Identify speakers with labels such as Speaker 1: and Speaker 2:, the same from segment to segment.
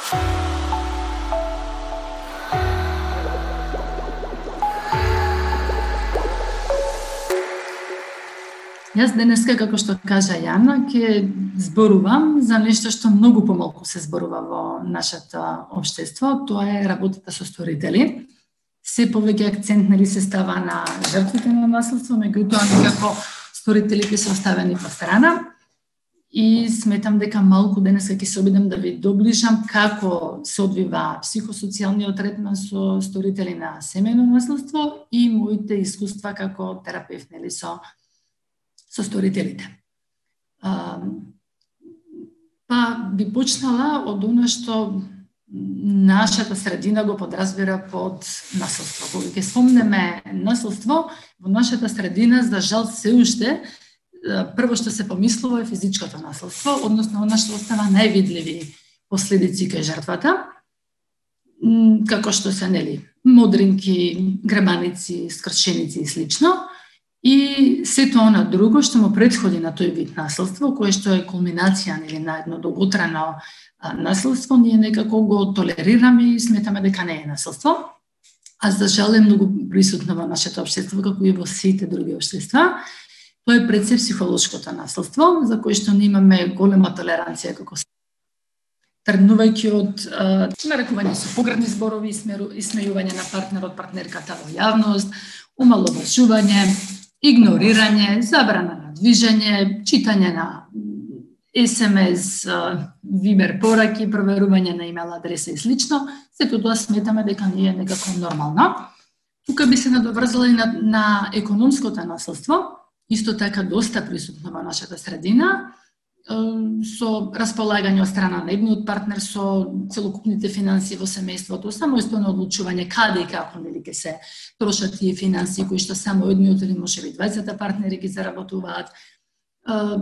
Speaker 1: Јас денеска, како што кажа Јана, ќе зборувам за нешто што многу помалку се зборува во нашето општество, тоа е работата со сторители. Се повеќе акцент се става на жртвите на насилство, меѓутоа некако сторителите се оставени по страна. И сметам дека малку денеска ќе се обидам да ви доближам како се одвива психосоцијалниот третман со сторители на семејно насилство и моите искуства како терапевт со сторителите. Па би почнала од она што нашата средина го подразбира под насилство. Кога ќе спомнеме насилство, во нашата средина, за жал се уште, прво што се помислува е физичкото насилство, односно она што остава највидливи последици кај жртвата, како што се модринки, гребаници, скршеници и слично. И сето она друго што му претходи на тој вид насилство, кое што е кулминација на едно долготрajно насилство, ние некако го толерираме и сметаме дека не е насилство. А за жал е многу присутно во нашето општество, како и во сите други општества. Тоа е пред се психолошкото насилство, за кое што ние имаме голема толеранција како тргнувајќи од нарекување со погрдни зборови, исмејување на партнерот, партнерката во јавност, омаловажување, игнорирање, забрана на движење, читање на СМС, Вибер пораки, проверување на имейл адреса и слично. Сето тоа сметаме дека не е некако нормално. Тука би се надоврзала и на економското насилство, исто така доста присутно во нашата средина, со располагање од страна на едниот партнер со целокупните финансии во семејството, самостојно одлучување каде и како ќе се трошат тие финансии кои што само едниот или можеби двајцата партнери ги заработуваат,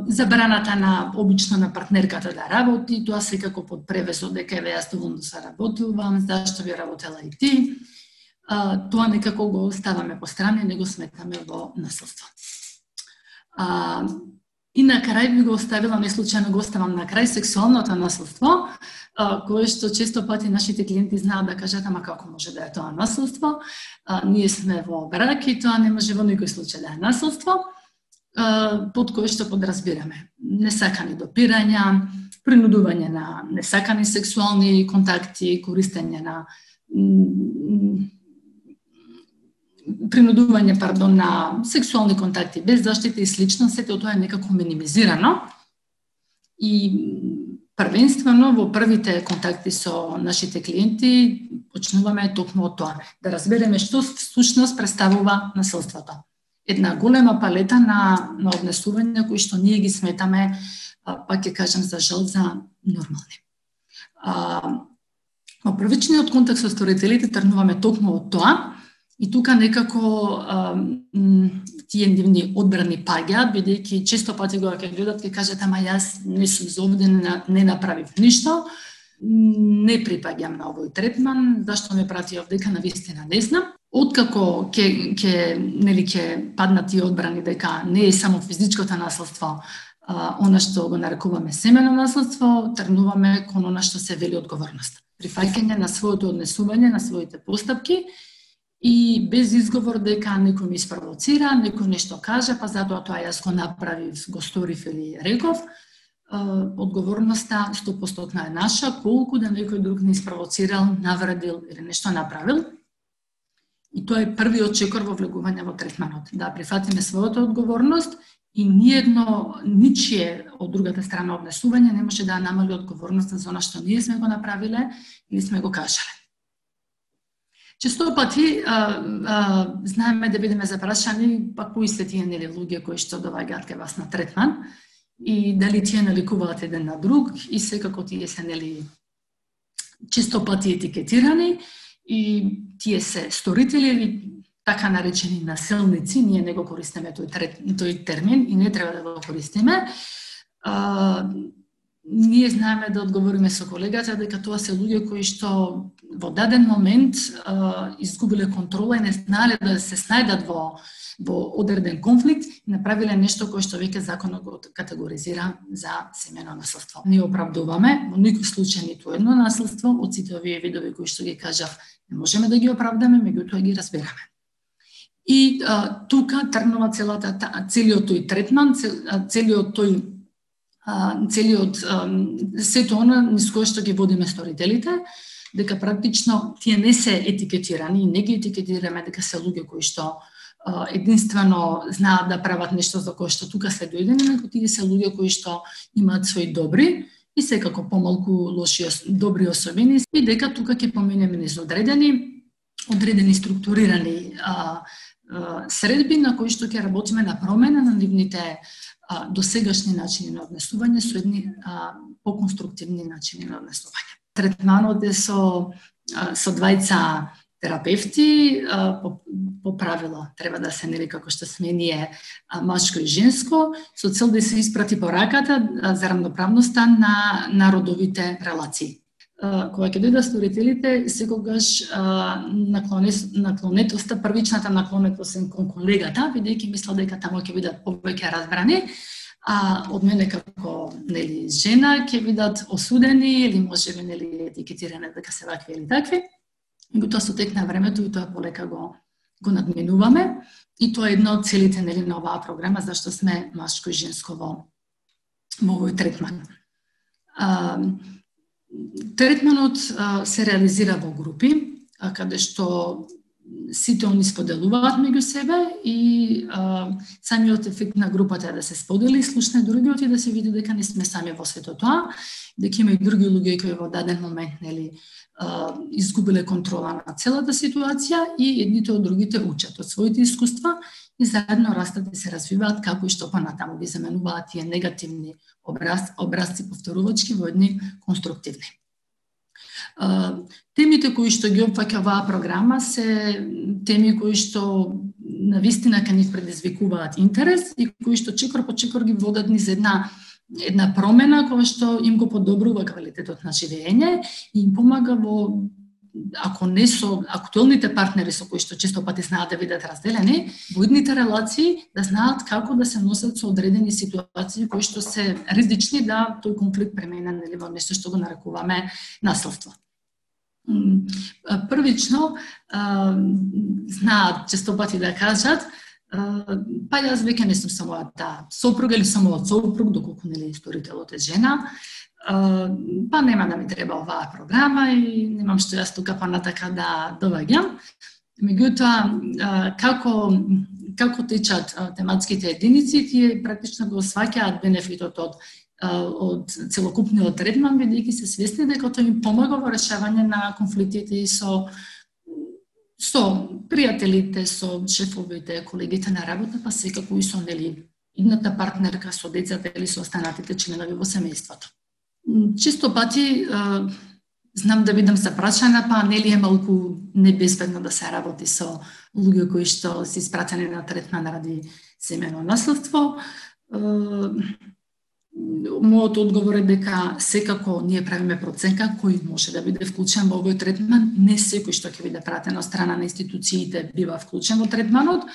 Speaker 1: забраната обично на партнерката да работи, тоа секако под превесот дека еве јас доволно се работувам, зашто би работела и ти. Тоа некако го ставаме по страна и не го сметаме во насилство. И на крај би го оставила, не случајно го оставам на крај, сексуалното насилство, кое што често пати нашите клиенти знаат да кажат, ама како може да е тоа насилство, ние сме во брак и тоа не може во никој случај да е насилство, под кое што подразбираме несакани допирања, принудување на несакани сексуални контакти, користење на на сексуални контакти без заштита и слично, сето тоа е некако минимизирано. И првенствено во првите контакти со нашите клиенти почнуваме токму од тоа, да разбереме што всушност представува насилството. Една голема палета на однесувања кои што ние ги сметаме, пак ќе кажам за жал, за нормални. Во првичниот контакт со сторителите тргнуваме токму од тоа. И тука некако тие нивни одбрани паѓаат, бидејќи често пати кога ќе гледат ќе кажат, ама јас не сум зовден, не направив ништо, не припаѓам на овој третман, зашто ме прати овдека, навистина не знам. Откако ќе паднат тие одбрани дека не е само физичкото насилство, она што го нарекуваме семено насилство, тргнуваме кон она што се вели одговорност. Прифаќање на своето однесување, на своите постапки, и без изговор дека некој ми спровоцира, некој нешто каже, па затоа тоа јас го направив, го сторив или реков, одговорноста 100% е наша, колку да некој друг не спровоцирал, навредил или нешто направил. И тоа е првиот чекор во влегување во третманот, да прифатиме својата одговорност и ничие од другата страна однесување не може да намали одговорноста за она што ние сме го направиле или сме го кажале. Често пати знаеме да бидеме запрашани, па кои се тие луѓе кои што доаѓаат кај вас на третман и дали тие наликуваат еден на друг и секако тие се често пати етикетирани и тие се сторители или така наречени насилници, ние не го користиме тој термин и не треба да го користиме. ние знаеме да одговориме со колегата дека тоа се луѓе кои што во даден момент изгубиле контрола и не знаеле да се снајдат во одреден конфликт и направиле нешто кое што веќе законот го категоризира за семејно насилство. Ние оправдуваме во никој случај ниту едно насилство од сите овие видови кои што ги кажав, не можеме да ги оправдаме, меѓутоа ги разбираме. И тука тргнува целиот тој третман, целиот сето она низ кое што ги водиме сторителите, дека практично тие не се етикетирани и не ги етикетираме дека се луѓе кои што единствено знаат да прават нешто за кое што тука се дојдени, него тие се луѓе кои што имаат свои добри и секако помалку лоши добри особини и дека тука ќе поминеме низ одредени структурирани средби на кои што ќе работиме на промена на нивните досегашни начини на однесување со едни поконструктивни начини на однесување. Третманот е со двајца терапевти, по правило треба да се нели како што сме ние машко и женско, со цел да се испрати пораката за рамноправноста на родовите релации. Кога ќе дојдат сторителите, секогаш наклонетоста, првичната наклонетост кон колегата, бидејќи мисла дека таму ќе бидат повеќе разбрани, а од мене како нели жена ќе бидат осудени или можеби нели етикетирани дека се вакви или такви. И тоа со тек на времето и тоа полека го надминуваме и тоа е една од целите нели на оваа програма зашто сме машко и женско во овој третман. Третманот се реализира во групи, каде што сите они споделуваат меѓу себе и самиот ефект на групата е да се сподели, слушне другиот и да се види дека не сме сами во сето тоа, дека има и други луѓе кои во даден момент нели изгубиле контрола на целата ситуација и едните од другите учат од своите искуства и заедно растат и се развиваат како и што понатаму ги заменуваат тие негативни образци повторувачки во едни конструктивни. Темите кои што ги опфаќа оваа програма се теми кои што навистина ка ни предизвикуваат интерес и кои што чекор по чекор ги водат низ една промена која што им го подобрува квалитетот на живење и им помага во, ако не со актуелните партнери со кои што често пати знаат да бидат разделени, во идните релации да знаат како да се носат со одредени ситуации кои што се ризични да тој конфликт премине нели во нешто што го нарекуваме насилство. Првично знаат често пати да кажат па јас веќе не сум со мојата сопруга или со мојот сопруг, доколку нели сторителот е жена, па нема да ми треба оваа програма и немам што јас тука понатака да доваѓам. Меѓутоа, како течат тематските единици, тие практично го сваќаат бенефитот од целокупниот третман, бидејќи се свесни дека тоа им помага во решавање на конфликтите и со пријателите, со шефовите, колегите на работа, па секако и со нели идната партнерка, со децата или со останатите членови во семејството. Често пати знам да бидам запрашана, па нели е малку небезбедно да се работи со луѓе кои што се испратени на третман ради семејно насилство. Мојот одговор е дека секако ние правиме проценка кој може да биде вклучен во овој третман. Не секој што ќе биде пратен од страна на институциите бива вклучен во третманот.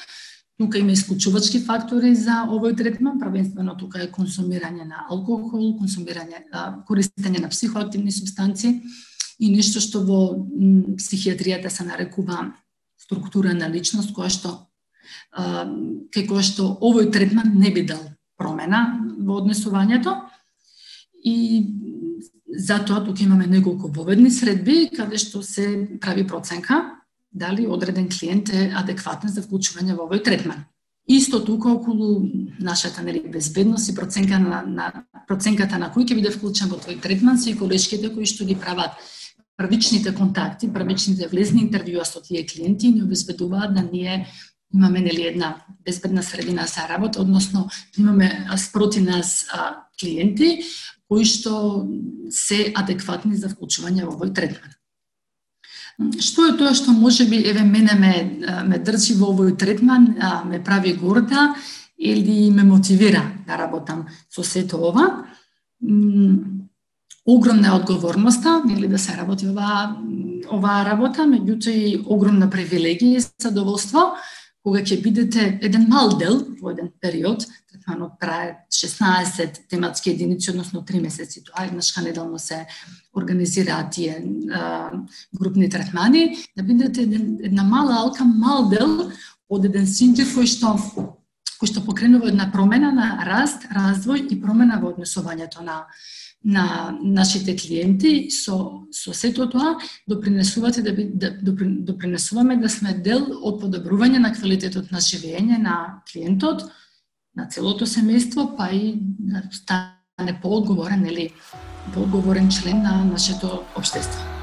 Speaker 1: Тука има исклучувачки фактори за овој третман, првенствено тука е консумирање на алкохол, користење на психоактивни супстанци и нешто што во психијатријата се нарекува структура на личност, која што овој третман не би дал промена во однесувањето и затоа тука имаме неколку воведни средби каде што се прави проценка дали одреден клиент е адекватен за вклучување во овој третман. Исто тука околу нашата безбедност и проценката на кој ќе биде вклучен во тој третман се и колешките кои што ги прават првичните контакти, првичните влезни интервјуа со тие клиенти и ни обезбедуваат да ние имаме една безбедна средина за работа, односно имаме спроти нас клиенти кои што се адекватни за вклучување во овој третман. Што е тоа што можеби мене ме држи во овој третман, ме прави горда или ме мотивира да работам со сето ова? огромна е одговорноста, нели, да се работи оваа работа, меѓутоа и огромна привилегија и задоволство, кога ќе бидете еден мал дел во еден период, третманот трае 16 тематски единици, односно 3 месеци, тоа еднашка неделно се организираат тие групни третмани, да бидете една мала алка, мал дел од еден синџир кој што покренува една промена на раст, развој и промена во однесувањето на нашите клиенти. Со сето тоа допринесувате допринесуваме да сме дел од подобрување на квалитетот на живење на клиентот, на целото семејство, па и да стане поодговорен член на нашето општество.